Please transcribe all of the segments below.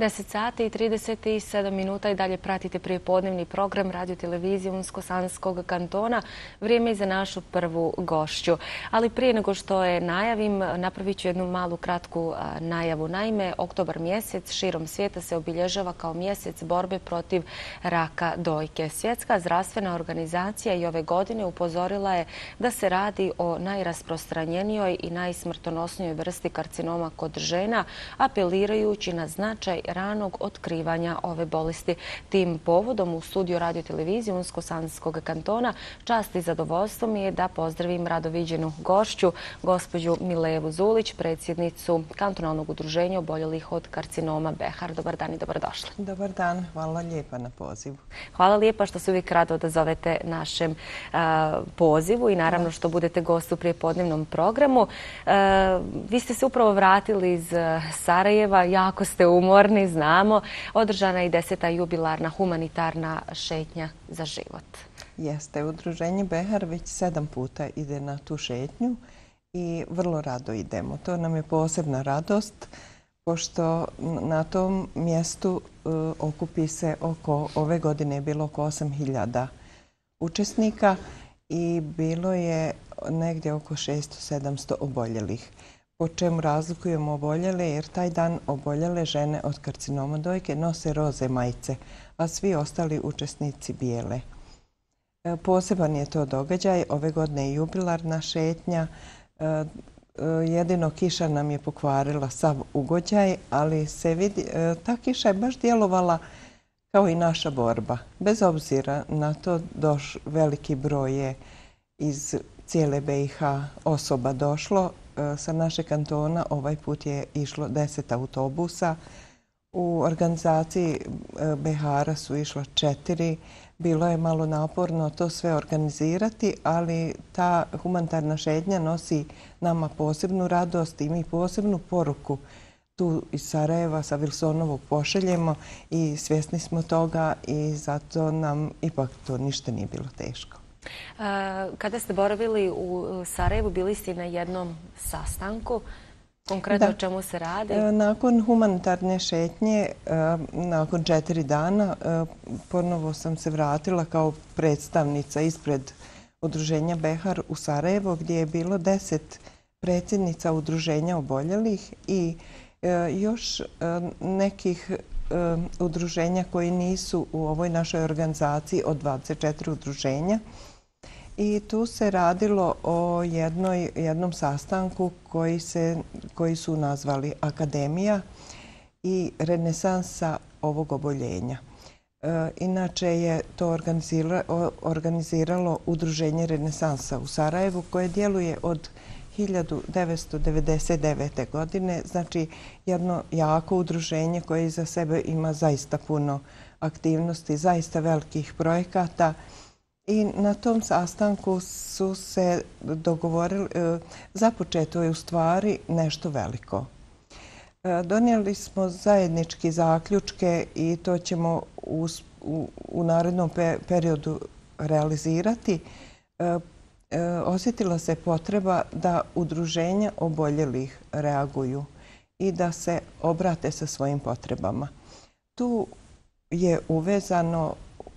10 sati i 37 minuta i dalje pratite prijepodnevni program Radio-televizije Unsko-Sanskog kantona. Vrijeme je za našu prvu gošću. Ali prije nego što je najavim, napravit ću jednu malu kratku najavu. Naime, oktobar mjesec širom svijeta se obilježava kao mjesec borbe protiv raka dojke. Svjetska zdravstvena organizacija i ove godine upozorila je da se radi o najrasprostranjenijoj i najsmrtonosnijoj vrsti karcinoma kod žena, apelirajući na značaj ranog otkrivanja ove bolesti. Tim povodom u studiju Radio-televizije Unsko-Sanskog kantona čast i zadovoljstvo mi je da pozdravim radoviđenu gošću, gospođu Milevu Zulić, predsjednicu Kantonalnog udruženja oboljelih od karcinoma Behar. Dobar dan i dobrodošli. Dobar dan, hvala lijepa na pozivu. Hvala lijepa što se uvijek rado odazovete našem pozivu i naravno što budete gost u prijepodnevnom programu. Vi ste se upravo vratili iz Sarajeva, jako ste umorni, znamo. Održana je i 10. jubilarna humanitarna šetnja za život. Jeste, udruženje Behar već 7 puta ide na tu šetnju i vrlo rado idemo. To nam je posebna radost, pošto na tom mjestu okupi se ove godine je bilo oko 8.000 učesnika i bilo je negdje oko 600-700 oboljelih. Po čemu razlikujemo oboljele, jer taj dan oboljele žene od karcinoma dojke nose roze majice, a svi ostali učesnici bijele. Poseban je to događaj, ove godine je jubilarna šetnja. Jedino kiša nam je pokvarila sav ugođaj, ali se vidi, ta kiša je baš djelovala kao i naša borba. Bez obzira na to, veliki broj je iz cijele BiH osoba došlo. Sa naše kantona ovaj put je išlo 10 autobusa. U organizaciji Behara su išlo 4. Bilo je malo naporno to sve organizirati, ali ta humanitarna šetnja nosi nama posebnu radost i mi posebnu poruku tu iz Sarajeva sa Wilsonovog pošaljemo i svjesni smo toga i zato nam ipak to ništa nije bilo teško. Kada ste boravili u Sarajevu, bili ste na jednom sastanku. Konkretno o čemu se radi? Nakon humanitarne šetnje, nakon 4 dana, ponovo sam se vratila kao predstavnica ispred udruženja Behar u Sarajevo, gdje je bilo 10 predsjednica udruženja oboljelih i još nekih udruženja koji nisu u ovoj našoj organizaciji od 24 udruženja. I tu se radilo o jednom sastanku koji su nazvali Akademija i renesansa ovog oboljenja. Inače je to organiziralo udruženje Renesansa u Sarajevu koje djeluje od 1999. godine. Znači jedno jako udruženje koje iza sebe ima zaista puno aktivnosti, zaista velikih projekata. I na tom sastanku su se dogovorili, započeto je u stvari nešto veliko. Donijeli smo zajednički zaključke i to ćemo u narednom periodu realizirati. Osjetila se potreba da udruženja oboljelih reaguju i da se obrate sa svojim potrebama. Tu je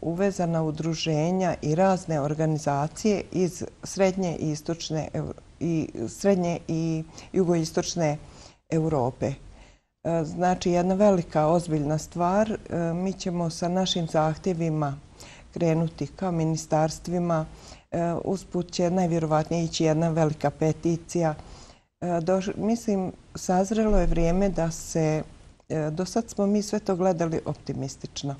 uvezana udruženja i razne organizacije iz srednje i jugoistočne Europe. Znači, jedna velika, ozbiljna stvar. Mi ćemo sa našim zahtjevima krenuti ka ministarstvima. Usput će najvjerovatnije ići jedna velika peticija. Mislim, sazrelo je vrijeme da se... Do sad smo mi sve to gledali optimistično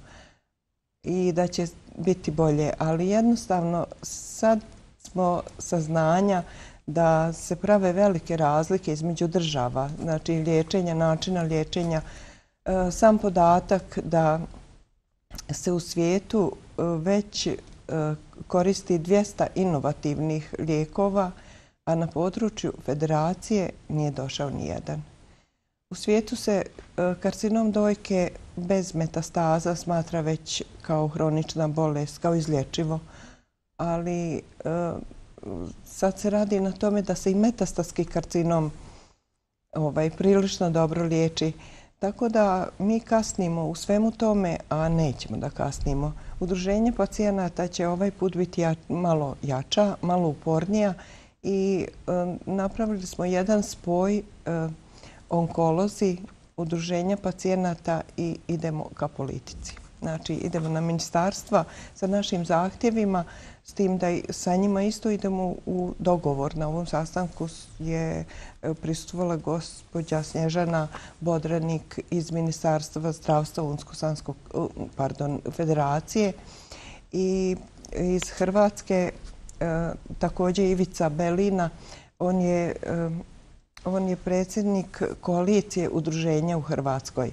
i da će biti bolje, ali jednostavno sad smo saznanja da se prave velike razlike između država, znači liječenja, načina liječenja. Sam podatak da se u svijetu već koristi 200 inovativnih lijekova, a na području federacije nije došao nijedan. U svijetu se karcinom dojke bez metastaza smatra već kao hronična bolest, kao izlječivo, ali sad se radi na tome da se i metastatski karcinom prilično dobro liječi. Tako da mi kasnimo u svemu tome, a nećemo da kasnimo. Udruženje pacijenata će ovaj put biti malo jača, malo upornija i napravili smo jedan spoj onkolozi, udruženja pacijenata i idemo ka politici. Znači, idemo na ministarstva sa našim zahtjevima, s tim da sa njima isto idemo u dogovor. Na ovom sastanku je prisustvovala gospođa Snježana Bodranik iz Ministarstva zdravstva Unsko-Sanske federacije i iz Hrvatske također Ivica Belina. On je predsjednik koalicije udruženja u Hrvatskoj.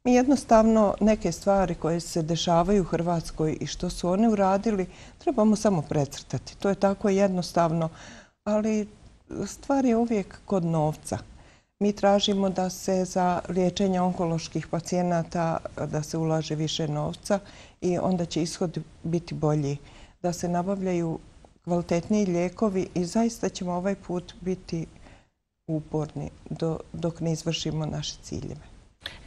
Mi jednostavno neke stvari koje se dešavaju u Hrvatskoj i što su oni uradili trebamo samo precrtati. To je tako jednostavno, ali stvar je uvijek kod novca. Mi tražimo da se za liječenje onkoloških pacijenata da se ulaže više novca i onda će ishod biti bolji. Da se nabavljaju kvalitetniji lijekovi i zaista ćemo ovaj put biti uporni dok ne izvršimo naše ciljeve.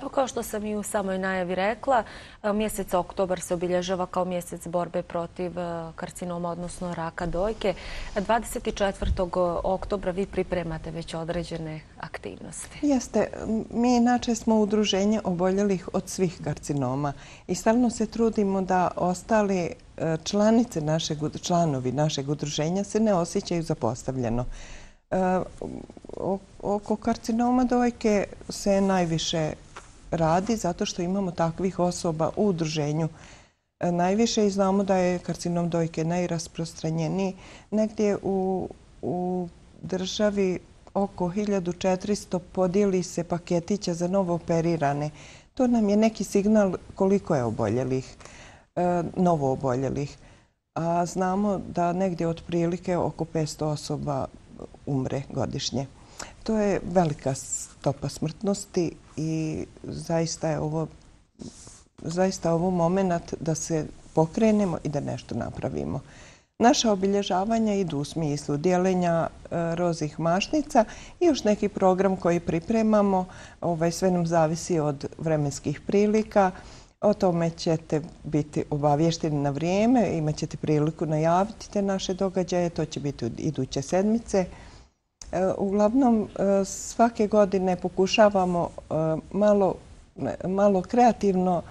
Evo, kao što sam i u samoj najavi rekla, mjesec oktobar se obilježava kao mjesec borbe protiv karcinoma, odnosno raka dojke. 24. oktobra vi pripremate već određene aktivnosti. Jeste. Mi inače smo udruženje oboljelih od svih karcinoma i stalno se trudimo da ostali članovi našeg udruženja se ne osjećaju zapostavljeno. Oko karcinoma dojke se najviše radi zato što imamo takvih osoba u udruženju najviše i znamo da je karcinom dojke najrasprostranjeniji. Negdje u državi oko 1400 podijeli se paketića za novo operirane. To nam je neki signal koliko je oboljelih, novo oboljelih. A znamo da negdje otprilike oko 500 osoba umre godišnje. To je velika stopa smrtnosti i zaista je ovo moment da se pokrenemo i da nešto napravimo. Naša obilježavanja idu u smislu dijeljenja rozih mašnica i još neki program koji pripremamo. Sve nam zavisi od vremenskih prilika. O tome ćete biti obavješteni na vrijeme, imat ćete priliku najaviti te naše događaje, to će biti iduće sedmice. Uglavnom, svake godine pokušavamo malo kreativno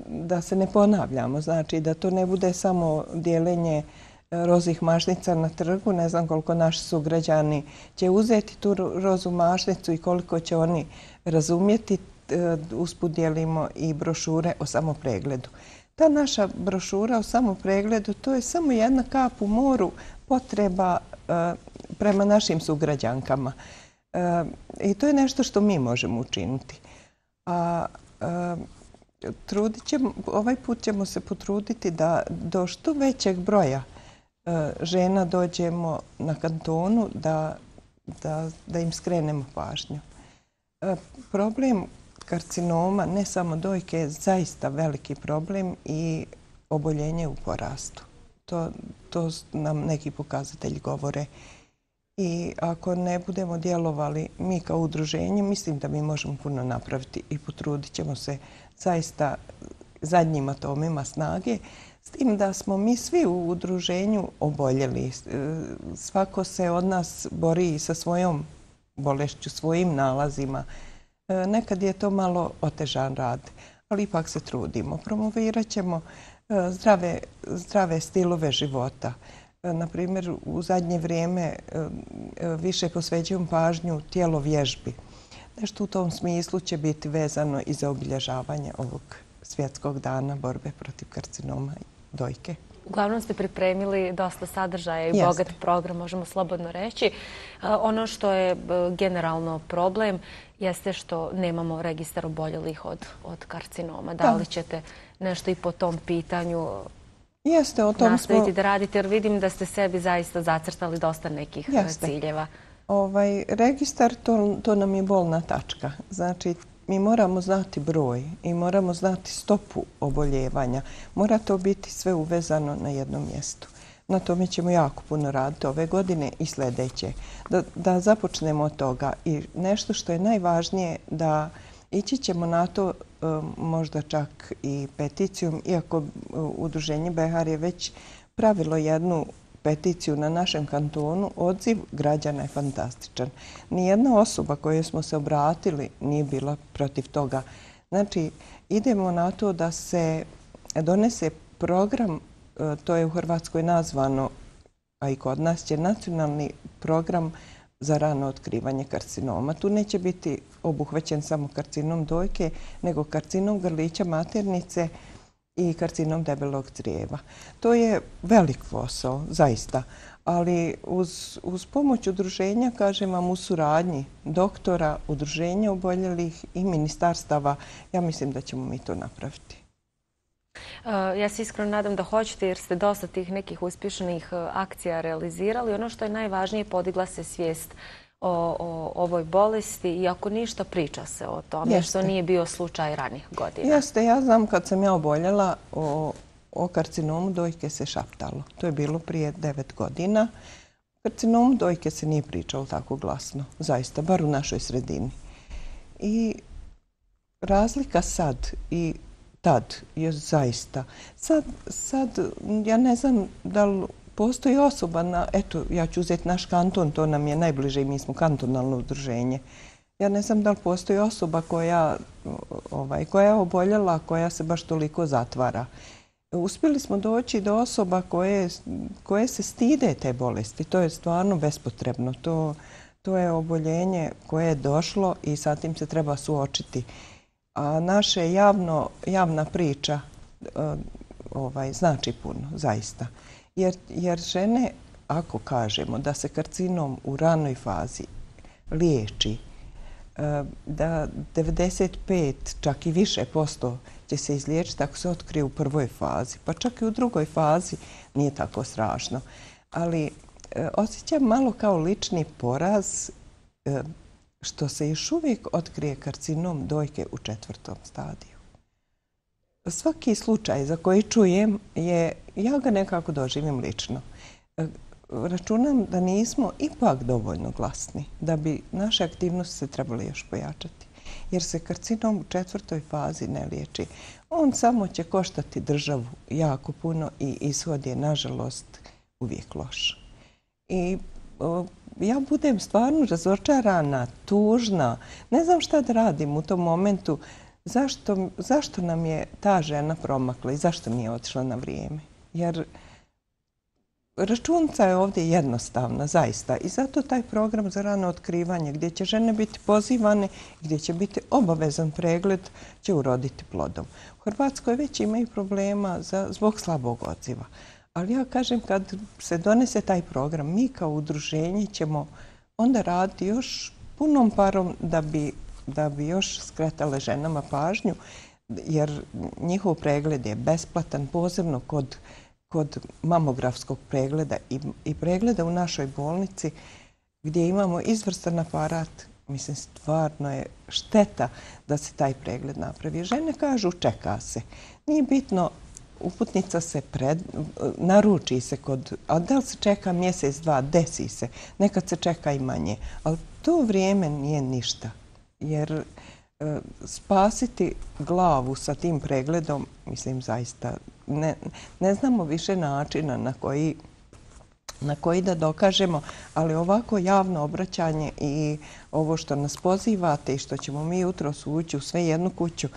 da se ne ponavljamo, znači da to ne bude samo dijeljenje rozih mašnica na trgu. Ne znam koliko naši sugrađani će uzeti tu rozu mašnicu i koliko će oni razumjeti. Usput dijelimo i brošure o samopregledu. Ta naša brošura o samopregledu to je samo jedna kap u moru potreba prema našim sugrađankama. I to je nešto što mi možemo učiniti. Ovaj put ćemo se potruditi da do što većeg broja žena dođemo na kantonu da im skrenemo pažnju. Problem karcinoma, ne samo dojke, je zaista veliki problem i oboljenje u porastu. To nam neki pokazatelji govore. I ako ne budemo djelovali mi kao udruženje, mislim da mi možemo puno napraviti i potrudit ćemo se zaista zadnjim atomima snage, s tim da smo mi svi u udruženju oboljeli. Svako se od nas bori sa svojom bolešću, svojim nalazima. Nekad je to malo otežan rad, ali ipak se trudimo. Promovirat ćemo zdrave stilove života. Naprimjer, u zadnje vrijeme više posvećujem pažnju tijelovježbi. Nešto u tom smislu će biti vezano i za obilježavanje ovog svjetskog dana borbe protiv karcinoma dojke. Uglavnom ste pripremili dosta sadržaja i bogat program, možemo slobodno reći. Ono što je generalno problem jeste što nemamo registar oboljelih od karcinoma. Da li ćete nešto i po tom pitanju nastaviti da radite? Jer vidim da ste sebi zaista zacrtali dosta nekih ciljeva. Registar, to nam je bolna tačka. Znači, mi moramo znati broj i moramo znati stopu oboljevanja. Mora to biti sve uvezano na jednom mjestu. Na tome ćemo jako puno raditi ove godine i sljedeće. Da započnemo od toga. I nešto što je najvažnije, da Ići ćemo na to možda čak i peticijom, iako udruženje Behar je već pravilo jednu peticiju na našem kantonu. Odziv građana je fantastičan. Nijedna osoba kojoj smo se obratili nije bila protiv toga. Znači, idemo na to da se donese program, to je u Hrvatskoj nazvano, a i kod nas će nacionalni program za rano otkrivanje karcinoma. Tu neće biti obuhvaćen samo karcinom dojke, nego karcinom grlića maternice i karcinom debelog crijeva. To je velik posao, zaista, ali uz pomoć udruženja, kažem vam, u suradnji doktora, udruženja oboljelih i ministarstava, ja mislim da ćemo mi to napraviti. Ja se iskreno nadam da hoćete jer ste dosta tih nekih uspješnih akcija realizirali. Ono što je najvažnije, podigla se svijest o ovoj bolesti i ako ništa priča se o tome, što nije bio slučaj ranijih godina. Jeste, ja znam kad sam ja oboljela o karcinomu dojke se šaptalo. To je bilo prije 9 godina. Karcinomu dojke se nije pričalo tako glasno, zaista, bar u našoj sredini. I razlika sad i tad je zaista. Sad ja ne znam da li postoji osoba, eto, ja ću uzeti naš kanton, to nam je najbliže i mi smo kantonalno udruženje. Ja ne znam da li postoji osoba koja je oboljela, koja se baš toliko zatvara. Uspjeli smo doći do osoba koje se stide te bolesti. To je stvarno bespotrebno. To je oboljenje koje je došlo i sa tim se treba suočiti. A naša javna priča znači puno, zaista. Jer žene, ako kažemo da se karcinom u ranoj fazi liječi, da 95, čak i više posto će se izliječiti ako se otkrije u prvoj fazi, pa čak i u drugoj fazi nije tako strašno. Ali osjećam malo kao lični poraz što se još uvijek otkrije karcinom dojke u 4. stadiju. Svaki slučaj za koji čujem, ja ga nekako doživim lično. Računam da nismo ipak dovoljno glasni, da bi naše aktivnosti se trebali još pojačati. Jer se karcinom u 4. fazi ne liječi. On samo će koštati državu jako puno i ishod je, nažalost, uvijek loš. I ja budem stvarno razočarana, tužna. Ne znam šta da radim u tom momentu. Zašto nam je ta žena promakla i zašto nije otišla na vrijeme? Jer računica je ovdje jednostavna, zaista. I zato taj program za rano otkrivanje gdje će žene biti pozivane, gdje će biti obavezan pregled, će uroditi plodom. U Hrvatskoj već imaju problema zbog slabog odziva. Ali ja kažem, kad se donese taj program, mi kao udruženje ćemo onda raditi još punom parom da bi još skretale ženama pažnju, jer njihov pregled je besplatan, posebno kod mamografskog pregleda i pregleda u našoj bolnici gdje imamo izvrstan aparat. Mislim, stvarno je šteta da se taj pregled napravi. Žene kažu čeka se. Nije bitno, uputnica se naruči se a da li se čeka mjesec, dva, desi se. Nekad se čeka i manje. Ali to vrijeme nije ništa. Jer spasiti glavu sa tim pregledom, mislim, zaista ne znamo više načina na koji da dokažemo, ali ovako javno obraćanje i ovo što nas pozivate i što ćemo mi jutros ući u sve jednu kuću,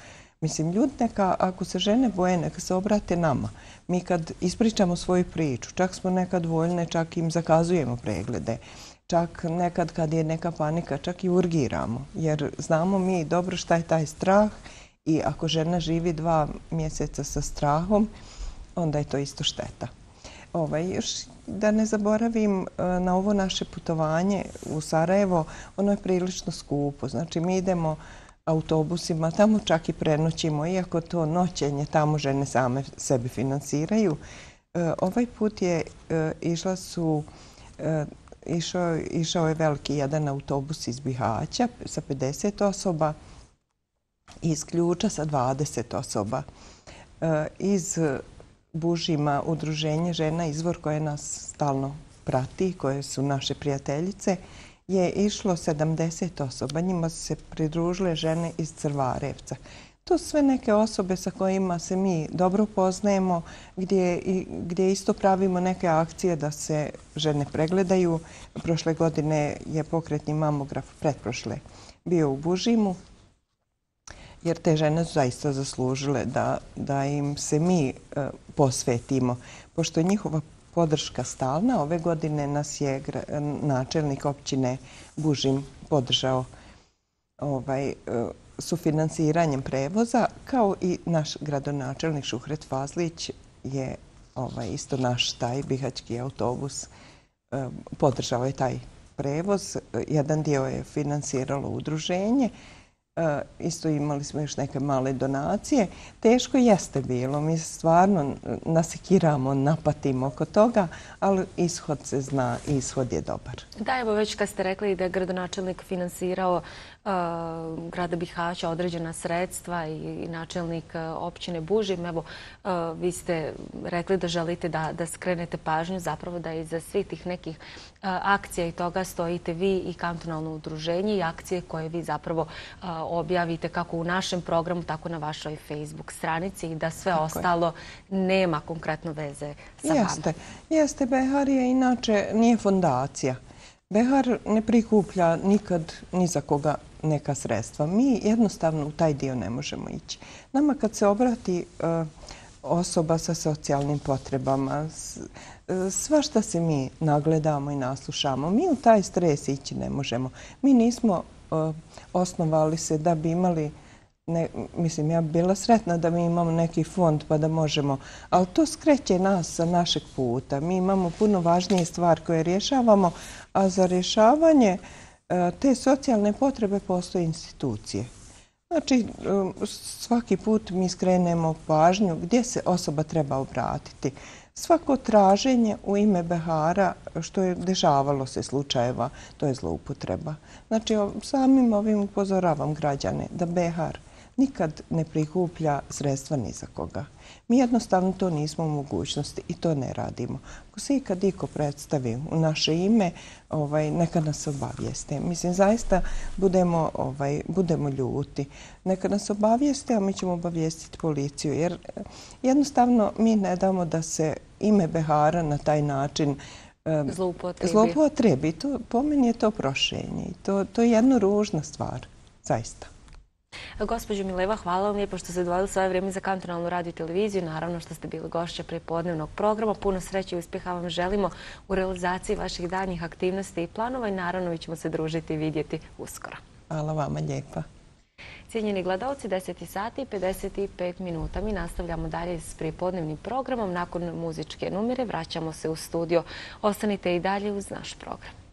mislim, ljudi neka, ako se žene boje, neka se obrate nama. Mi kad ispričamo svoju priču, čak smo nekad voljne, čak im zakazujemo preglede. Čak nekad kad je neka panika, čak i urgiramo. Jer znamo mi dobro šta je taj strah i ako žena živi 2 mjeseca sa strahom, onda je to isto šteta. Još da ne zaboravim na ovo naše putovanje u Sarajevo, ono je prilično skupo. Znači mi idemo autobusima, tamo čak i prenoćimo, iako to noćenje tamo žene same sebi finansiraju. Ovaj put je išao je veliki jedan autobus iz Bihaća sa 50 osoba i iz Ključa sa 20 osoba. Iz Bužima udruženje žena Izvor koje nas stalno prati, koje su naše prijateljice, je išlo 70 osoba. Njima su se pridružile žene iz Crvarevca. To su sve neke osobe sa kojima se mi dobro poznajemo, gdje isto pravimo neke akcije da se žene pregledaju. Prošle godine je pokretni mamograf, pretprošle, bio u Bužimu, jer te žene su zaista zaslužile da im se mi posvetimo. Pošto je njihova podrška stalna, ove godine nas je načelnik općine Bužim podržao sufinanciranjem prevoza, kao i naš gradonačelnik Šuhret Fazlić je isto naš taj bihaćki autobus podržao je taj prevoz. Jedan dio je finansiralo udruženje. Isto imali smo još neke male donacije. Teško jeste bilo. Mi stvarno nasekiramo, napatimo oko toga, ali ishod se zna i ishod je dobar. Da, evo već kad ste rekli da je gradonačelnik finansirao grada Bihaća određena sredstva i načelnik općine Bužim, evo vi ste rekli da želite da skrenete pažnju, zapravo da iza svih tih nekih akcija i toga stojite vi i kantonalno udruženje i akcije koje vi zapravo objavite kako u našem programu, tako na vašoj Facebook stranici i da sve ostalo nema konkretno veze sa vama. Jeste, Behar je inače nije fondacija. Behar ne prikuplja nikad ni za koga neka sredstva. Mi jednostavno u taj dio ne možemo ići. Nama kad se obrati osoba sa socijalnim potrebama, svašta se mi nagledamo i naslušamo. Mi u taj stres ići ne možemo. Mi nismo osnovali se da bi imali, mislim, ja bi bila sretna da mi imamo neki fond pa da možemo, ali to skreće nas sa našeg puta. Mi imamo puno važnije stvari koje rješavamo, a za rješavanje te socijalne potrebe postoje institucije. Znači, svaki put mi skrenemo pažnju gdje se osoba treba obratiti. Svako traženje u ime Behara, što je dešavalo se slučajeva, to je zloupotreba. Znači, samim ovim upozoravam građane da Behar nikad ne prikuplja sredstva ni za koga. Mi jednostavno to nismo u mogućnosti i to ne radimo. Ako se ikad iko predstavi u naše ime, neka nas obavijeste. Mislim, zaista budemo ljuti. Neka nas obavijeste, a mi ćemo obavijestiti policiju. Jer jednostavno mi ne damo da se ime Behara na taj način zloupotrebi. Po meni je to prošenje. To je jedna ružna stvar. Zaista. Gospođo Mileva, hvala vam lijepo što ste odvojili svoje vrijeme za kantonalnu radio i televiziju. Naravno što ste bili gošća prepodnevnog programa. Puno sreće i uspjeha vam želimo u realizaciji vaših danjih aktivnosti i planova i naravno mi ćemo se družiti i vidjeti uskoro. Hvala vama lijepa. Cijenjeni gledalci, 10 sati i 55 minuta. Mi nastavljamo dalje s prepodnevnim programom. Nakon muzičke numere vraćamo se u studio. Ostanite i dalje uz naš program.